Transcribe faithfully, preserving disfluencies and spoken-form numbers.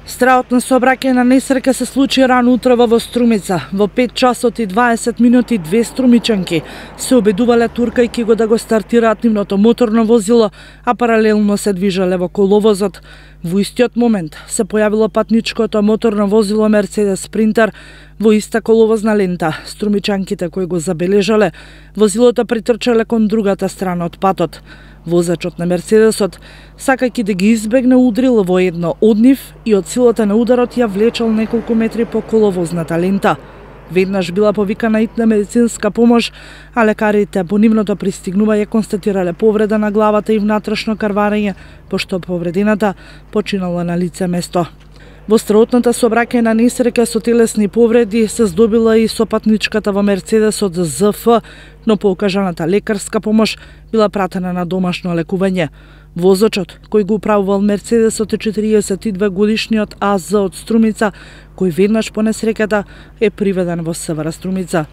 Страотна сообраќајна несреќа се случи рано утрово во Струмица. Во пет часот и дваесет минути две струмичанки се обидувале туркајќи го да го стартираат нивното моторно возило, а паралелно се движеле во коловозот. Во истиот момент се појавило патничкото моторно возило Мерцедес Спринтер во иста коловозна лента. Струмичанките кои го забележале, возилото притрчале кон другата страна од патот. Возачот на Мерцедесот, сакајќи да ги избегне, удрил во едно од нив и од силата на ударот ја влечел неколку метри по коловозната лента. Веднаш била повикана итна медицинска помош, а лекарите по нивното пристигнување констатирале повреда на главата и внатрешно карварење, пошто повредената починала на лице место. Во страотната сообраќајна несреќа со телесни повреди се здобила и сопатничката во Мерцедесот З Ф, но по окажаната лекарска помош била пратена на домашно лекување. Возачот, кој го управувал Мерцедесот, е четириесет и две годишниот А З од Струмица, кој веднаш по несреќата е приведен во С В Р Струмица.